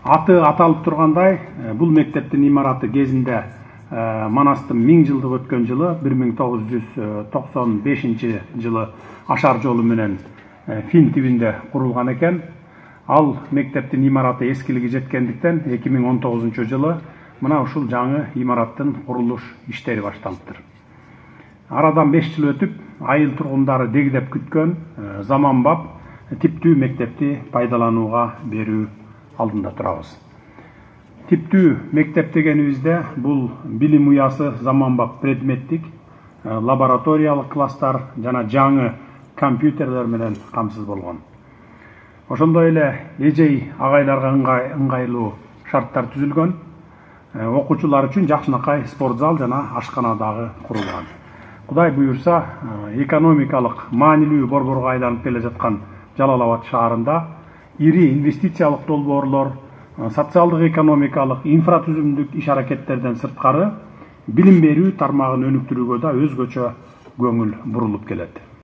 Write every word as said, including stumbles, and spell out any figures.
Аты аталып тургандай, бул мектептин имараты кезинде Манастын миң жылдык өткөн жылы бир миң тогуз жүз токсон бешинчи жылы Ашар жолу менен Фин тибинде курулган экен. Ал мектептин имараты эскилиги жеткендиктен эки миң он тогузунчу жылы мына ушул жаңы имараттын курулуш иштери башталыптыр. Арадан беш жыл өтүп, айыл тургундары дегдеп күткөн заманбап типтүү мектепти пайдаланууга берүү алдында турабыз. Типтүү мектеп дегенибизде бул билим уясы заманбап предметтик, лабораториялык класстар жана жаңы компьютерлер менен камсыз болгон. Ошондой эле эжей агайларга ыңгайлуу шарттар түзүлгөн. Окуучулар үчүн жакшынакай спорт зал жана ашкана дагы курулган. Кудай буюрса, экономикалык маанилүү борборго айланып келе жаткан Жалал Абад шаарында ири инвестициялык долбоорлор, социалдык экономикалык инфратүзүмдүк иш аракеттерден сырткары билим берүү тармагын өнүктүрүүгө да өзгөчө көңүл бурулуп келет.